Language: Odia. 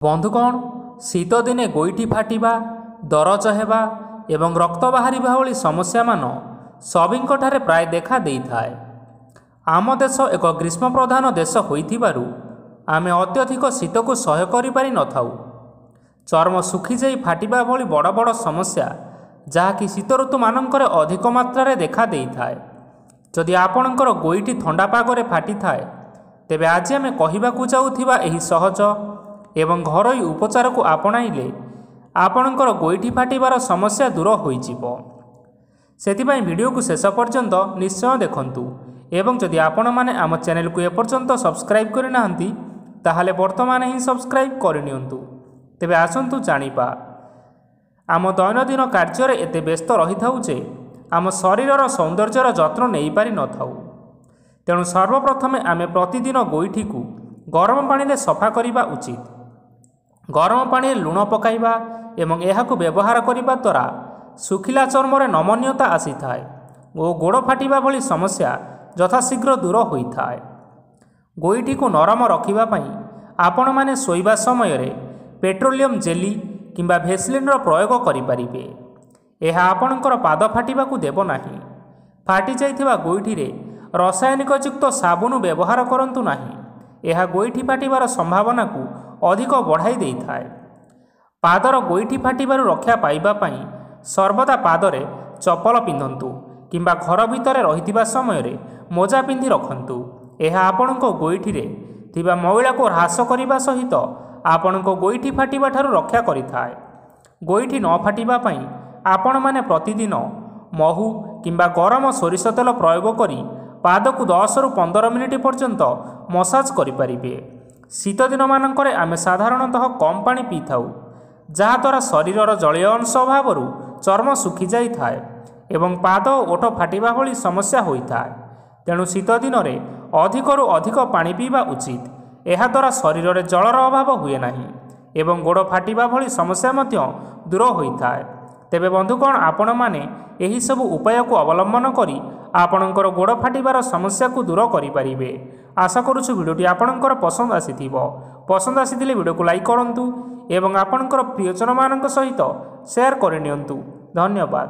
ବନ୍ଧୁଗଣ, ଶୀତଦିନେ ଗୋଇଠି ଫାଟିବା, ଦରଜ ହେବା ଏବଂ ରକ୍ତ ବାହାରିବା ଭଳି ସମସ୍ୟାମାନ ସଭିଙ୍କଠାରେ ପ୍ରାୟ ଦେଖା ଦେଇଥାଏ। ଆମ ଦେଶ ଏକ ଗ୍ରୀଷ୍ମ ପ୍ରଧାନ ଦେଶ ହୋଇଥିବାରୁ ଆମେ ଅତ୍ୟଧିକ ଶୀତକୁ ସହ୍ୟ କରିପାରିନଥାଉ। ଚର୍ମ ଶୁଖିଯାଇ ଫାଟିବା ଭଳି ବଡ଼ ବଡ଼ ସମସ୍ୟା ଯାହାକି ଶୀତ ଋତୁମାନଙ୍କରେ ଅଧିକ ମାତ୍ରାରେ ଦେଖା ଦେଇଥାଏ। ଯଦି ଆପଣଙ୍କର ଗୋଇଠି ଥଣ୍ଡା ପାଗରେ ଫାଟିଥାଏ, ତେବେ ଆଜି ଆମେ କହିବାକୁ ଯାଉଥିବା ଏହି ସହଜ ଏବଂ ଘରୋଇ ଉପଚାରକୁ ଆପଣାଇଲେ ଆପଣଙ୍କର ଗୋଇଠି ଫାଟିବାର ସମସ୍ୟା ଦୂର ହୋଇଯିବ। ସେଥିପାଇଁ ଭିଡ଼ିଓକୁ ଶେଷ ପର୍ଯ୍ୟନ୍ତ ନିଶ୍ଚୟ ଦେଖନ୍ତୁ ଏବଂ ଯଦି ଆପଣମାନେ ଆମ ଚ୍ୟାନେଲକୁ ଏପର୍ଯ୍ୟନ୍ତ ସବସ୍କ୍ରାଇବ୍ କରିନାହାନ୍ତି, ତାହେଲେ ବର୍ତ୍ତମାନ ହିଁ ସବସ୍କ୍ରାଇବ୍ କରିନିଅନ୍ତୁ। ତେବେ ଆସନ୍ତୁ ଜାଣିବା। ଆମ ଦୈନନ୍ଦିନ କାର୍ଯ୍ୟରେ ଏତେ ବ୍ୟସ୍ତ ରହିଥାଉ ଯେ ଆମ ଶରୀରର ସୌନ୍ଦର୍ଯ୍ୟର ଯତ୍ନ ନେଇପାରିନଥାଉ। ତେଣୁ ସର୍ବପ୍ରଥମେ ଆମେ ପ୍ରତିଦିନ ଗୋଇଠିକୁ ଗରମ ପାଣିରେ ସଫା କରିବା ଉଚିତ। ଗରମ ପାଣିରେ ଲୁଣ ପକାଇବା ଏବଂ ଏହାକୁ ବ୍ୟବହାର କରିବା ଦ୍ୱାରା ଶୁଖିଲା ଚର୍ମରେ ନମନୀୟତା ଆସିଥାଏ ଓ ଗୋଡ଼ ଫାଟିବା ଭଳି ସମସ୍ୟା ଯଥାଶୀଘ୍ର ଦୂର ହୋଇଥାଏ। ଗୋଇଠିକୁ ନରମ ରଖିବା ପାଇଁ ଆପଣମାନେ ଶୋଇବା ସମୟରେ ପେଟ୍ରୋଲିୟମ ଜେଲି କିମ୍ବା ଭେସଲିନ୍ର ପ୍ରୟୋଗ କରିପାରିବେ। ଏହା ଆପଣଙ୍କର ପାଦ ଫାଟିବାକୁ ଦେବ ନାହିଁ। ଫାଟିଯାଇଥିବା ଗୋଇଠିରେ ରସାୟନିକଯୁକ୍ତ ସାବୁନ ବ୍ୟବହାର କରନ୍ତୁ ନାହିଁ। ଏହା ଗୋଇଠି ଫାଟିବାର ସମ୍ଭାବନାକୁ ଅଧିକ ବଢ଼ାଇ ଦେଇଥାଏ। ପାଦର ଗୋଇଠି ଫାଟିବାରୁ ରକ୍ଷା ପାଇବା ପାଇଁ ସର୍ବଦା ପାଦରେ ଚପଲ ପିନ୍ଧନ୍ତୁ କିମ୍ବା ଘର ଭିତରେ ରହିଥିବା ସମୟରେ ମୋଜା ପିନ୍ଧି ରଖନ୍ତୁ। ଏହା ଆପଣଙ୍କ ଗୋଇଠିରେ ଥିବା ମଇଳାକୁ ହ୍ରାସ କରିବା ସହିତ ଆପଣଙ୍କ ଗୋଇଠି ଫାଟିବା ଠାରୁ ରକ୍ଷା କରିଥାଏ। ଗୋଇଠି ନ ଫାଟିବା ପାଇଁ ଆପଣମାନେ ପ୍ରତିଦିନ ମହୁ କିମ୍ବା ଗରମ ସୋରିଷ ତେଲ ପ୍ରୟୋଗ କରି ପାଦକୁ 10ରୁ 15 ମିନିଟ୍ ପର୍ଯ୍ୟନ୍ତ ମସାଜ କରିପାରିବେ। ଶୀତ ଦିନମାନଙ୍କରେ ଆମେ ସାଧାରଣତଃ କମ୍ ପାଣି ପିଇଥାଉ, ଯାହାଦ୍ୱାରା ଶରୀରର ଜଳୀୟ ଅଂଶ ଅଭାବରୁ ଚର୍ମ ଶୁଖିଯାଇଥାଏ ଏବଂ ପାଦ ଓ ଓଠ ଫାଟିବା ଭଳି ସମସ୍ୟା ହୋଇଥାଏ। ତେଣୁ ଶୀତ ଦିନରେ ଅଧିକରୁ ଅଧିକ ପାଣି ପିଇବା ଉଚିତ। ଏହାଦ୍ୱାରା ଶରୀରରେ ଜଳର ଅଭାବ ହୁଏ ନାହିଁ ଏବଂ ଗୋଡ଼ ଫାଟିବା ଭଳି ସମସ୍ୟା ମଧ୍ୟ ଦୂର ହୋଇଥାଏ। ତେବେ ବନ୍ଧୁଗଣ, ଆପଣମାନେ ଏହିସବୁ ଉପାୟକୁ ଅବଲମ୍ବନ କରି ଆପଣଙ୍କର ଗୋଡ଼ ଫାଟିବାର ସମସ୍ୟାକୁ ଦୂର କରିପାରିବେ। ଆଶା କରୁଛୁ ଭିଡ଼ିଓଟି ଆପଣଙ୍କର ପସନ୍ଦ ଆସିଥିବ। ପସନ୍ଦ ଆସିଥିଲେ ଭିଡ଼ିଓକୁ ଲାଇକ୍ କରନ୍ତୁ ଏବଂ ଆପଣଙ୍କର ପ୍ରିୟଜନମାନଙ୍କ ସହିତ ସେୟାର କରିନିଅନ୍ତୁ। ଧନ୍ୟବାଦ।